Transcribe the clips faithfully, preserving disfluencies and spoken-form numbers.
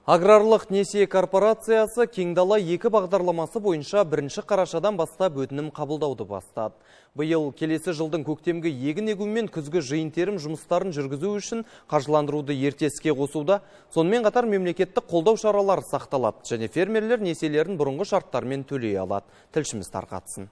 Аграрлық несие корпорациясы Кеңдала екі бағдарламасы бойынша бірінші қарашадан бастап өтінім қабылдауды бастады. Биыл келесі жылдың көктемгі егін егу мен күзгі жиын-терім жұмыстарын жүргізу үшін қаржыландыруды ерте іске қосуда, сонымен қатар мемлекеттік қолдау шаралары сақталады және фермерлер несиелерін бұрынғы шарттармен төлей алады. Тілшіміз тарқатсын.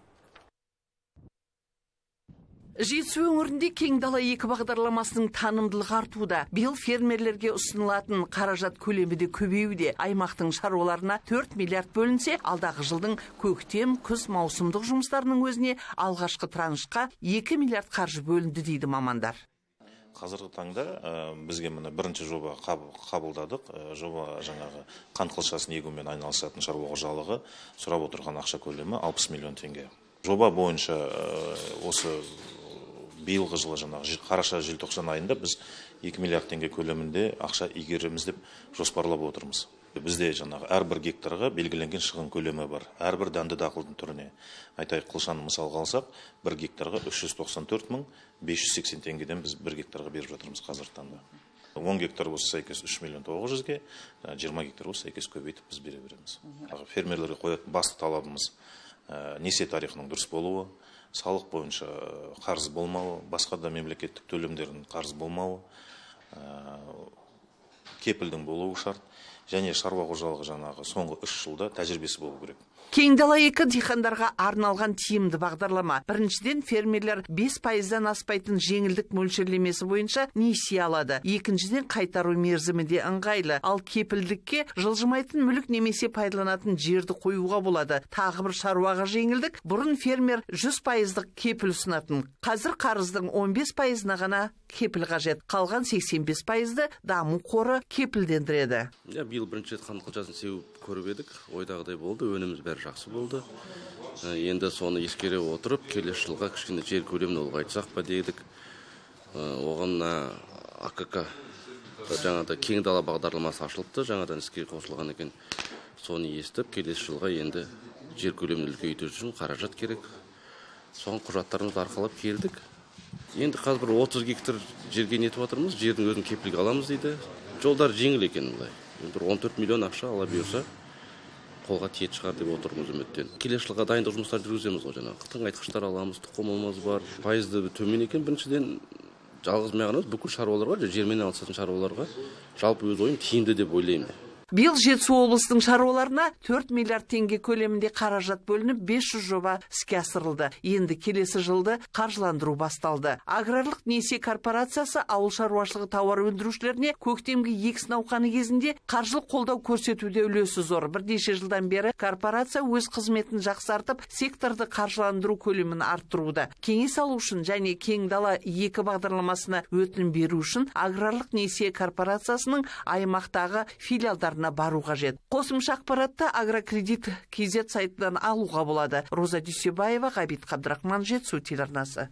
Жетісу өңірінде Кеңдала екі бағдарламасының танымдылығы артуда. Биыл фермерлерге ұсынылатын қаражат көлемі де көбеюде. Аймақтың шаруаларына төрт миллиард бөлінсе, алдағы жылдың көктем, күз маусымдық жұмыстарының өзіне алғашқы траншқа екі миллиард қаржы бөлінді дейді мамандар. Қазіргі таңда бізге міне бірінші жоба қабылдадық. Жоба жаңағы қант қылшасын егумен айналысатын шаруа қожалығы сұрап отырған ақша көлемі алпыс миллион теңге. Жоба бойынша осы биылғы жылы жаңағы қараша желтоқсан айында біз екі миллиард теңге көлемінде ақша игереміз деп жоспарлап отырмыз. Бізде жаңағы әрбір гектарға белгіленген шығын көлемі бар. Әрбір дәнді дақылдың түріне. Айтайық, қылшаны мысалға алсақ, бір гектарға үш жүз тоқсан төрт мың бес жүз сексен теңгеден біз бір гектарға беріп жатырмыз қазіргі таңда. он гектар болса сәйкес үш миллион тоғыз жүзге, жиырма гектар болса сәйкес көбейтіп біз бере береміз. Фермерлерге қоятын басты талабымыз несие тарихының дұрыс болуы, салық бойынша қарыз болмауы, басқа да мемлекеттік төлемдердің қарыз болмауы, кепілдің болуы шарт, және шаруа қожалығы жаңағы соңғы үш жылда тәжірибесі болу керек. Кеңдала екі диқандарға арналған тиімді бағдарлама. Біріншіден, фермерлер бес пайыздан аспайтын жеңілдік мөлшерлемесі бойынша несие алады. Екіншіден, қайтару мерзімі де ыңғайлы. Ал кепілдікке жылжымайтын мүлік немесе пайдаланатын жерді қоюға болады. Тағы бір шаруаға жеңілдік. Бұрын фермер жүз пайыздық кепіл ұсынатын. Қазір қарыздың он бес пайызына ғана кепіл қажет. Қалған сексен бес пайызды даму қоры кепілдендіреді. Биыл бірінші рет қант қылшасын сеуіп көріп едік, ойдағыдай болды, өніміз бәрі жақсы болды. Енді соны ескере отырып, келесі жылға кішкене жер көлемін ұлғайтсақ па дедік. Оған А К К жаңада Кеңдала бағдарламасы ашылыпты, жаңадан іске қосылған екен. Соны естіп, келесі жылға енді жер көлемін үлкейту үшін қаражат керек. Соған құжаттарымызды арқалап келдік. Енді қазір отыз гектар жерге нетіп отырмыз, жердің өзін кепілге аламыз дейді. Жолдар жеңіл екен бұлай. Бір он төрт миллион ақша ала берсе, қолға тиет шығар деп отырмыз үміттен. Келесі жылға дайындық жұмыстар жүргіземіз ғой жаңағы. Тыңайтқыштар аламыз, тұқымымыз бар. Пайызды төмен екен. Біріншіден жалғыз мен ғана бүкіл шаруаларға, жермен алысатын шаруаларға жалпы өз ойым тиімді деп ойлаймын. Биыл Жетісу облыстың шаруаларына төрт миллиард теңге көлемінде қаражат бөлініп, бес жүз жоба іске асырылды. Енді келесі жылды қаржыландыру басталды. Аграрлық несие корпорациясы ауыл шаруашылығы тауар өндірушілеріне көктемгі егіс науқаны кезінде қаржылық қолдау көрсетуде үлесі зор. Бірнеше жылдан бері корпорация өз қызметін жақсартып, секторды қаржыландыру көлемін арттыруда. Кеңес алу үшін және Кеңдала екі бағдарламасына өтінім беру үшін аграрлық несие корпорациясының аймақтағы филиалдар бару қажет. Қосымша ақпаратты Агрокредит кз сайтынан алуға болады. Роза Дүйсебаева, Ғабит Қабдырахман, Жетісу телеарнасы.